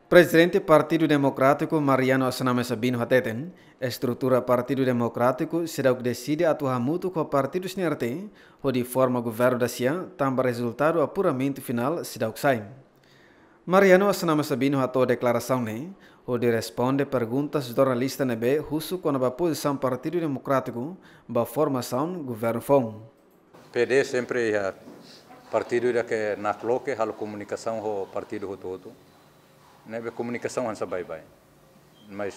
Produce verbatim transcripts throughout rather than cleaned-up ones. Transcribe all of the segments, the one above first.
Prezidente Partidu Demokrátiku Mariano Assanami Sabino hateten, estrutura Partidu Demokrátiku seidauk deside atu hamutuk ho partidu sira-ne'e hodi forma governu da sia, tanba rezultadu apuramentu finál seidauk sai. Mariano Assanami Sabino hato'o deklarasaun ne'e hodi responde perguntas jornalista ne'ebé husu kona-ba pozisaun Partidu Demokrátiku ba formasaun governu foun. P D sempre iha partidu ida ke nakloke halo komunikasaun ho partidu hotu-hotu. Ne'ebé komunikasaun hanesan baibain. Mas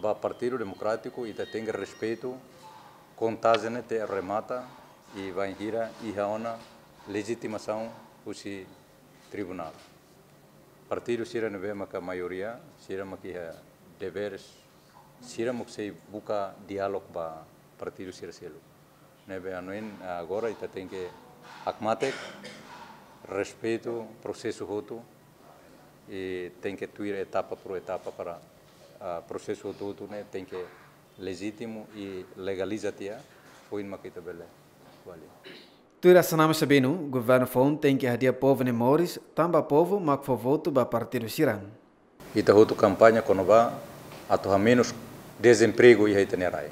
ba Partidu Demokrátiku ita tenke respeitu kontajen ne'e te remata i bainhira iha ona lejitimasaun husi tribunál. Partidu sira ne'ebé maka maioria, sira maka iha deveres, sira mós sei buka diálogu ba partidu sira seluk. Ne'ebé hanoin, agora ita tenke hakmatek, respeitu prosesu hotu, i tenke tuir etapa por etapa para, ah, prosesu hotu-hotu ne'e tenke lejitimu i legaliza tiha, foin maka ita bele avalia. Tuir Assanami Sabino, governu foun tenke hadi'a povu nia moris, tanba povu mak fó votu ba partidu sira. Ita hotu kampaña kona-ba atu hamenus dezempregu iha ita-nia rai.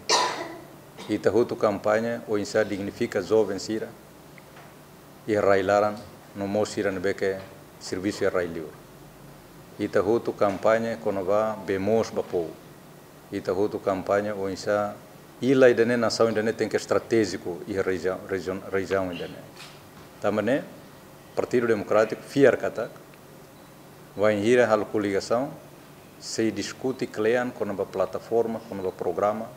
Ita hotu kampaña oinsá dignifika joven sira iha rai laran, no mós sira ne'ebé ke servisu iha rai liur. Ita hotu kampaña kona-ba bee moos ba povu. Ita hotu kampaña oinsá illa ida-ne'e, nasaun ida-ne'e tenke estratéjiku iha rejiaun, rejiaun, rejiaun ida-ne'e. Tanba ne'e, Partidu Demokrátiku fiar katak bainhira halo koligasaun, sei diskute kle'an kona-ba plataforma, kona-ba programa,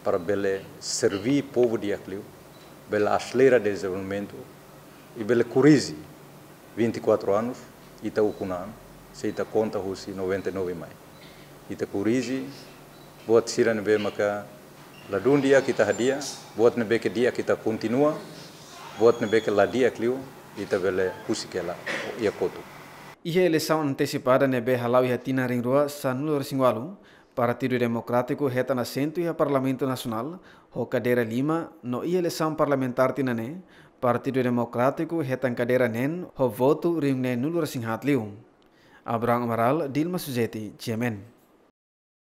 para bele serví povu di'ak liu, bele aselera dezenvolvimentu, i bele korrije vinte e quatro anos, ita ukun an, se ita konta husi noventa e nove mai. Ita korrije buat sira ne'ebé maka ladún di'ak ita hadi'a, buat ne'ebé ke di'ak ita kontinua, buat ne'ebé ke la di'ak liu, ita bele husik hela iha kotuk. Iha eleisaun antesipada ne'ebé hala'o iha tinan rihun rua sanulu-resin-ualu, Partidu Demokrátiku hetan asentu iha Parlamentu Nasionál ho kadeira lima, no iha eleisaun parlamentár tinan ne'e, Partidu Demokrátiku hetan kadeira neen ho votu rihun neenulu-resin-haat liu. Abraham Amaral, Dilma Suzeti, G M N.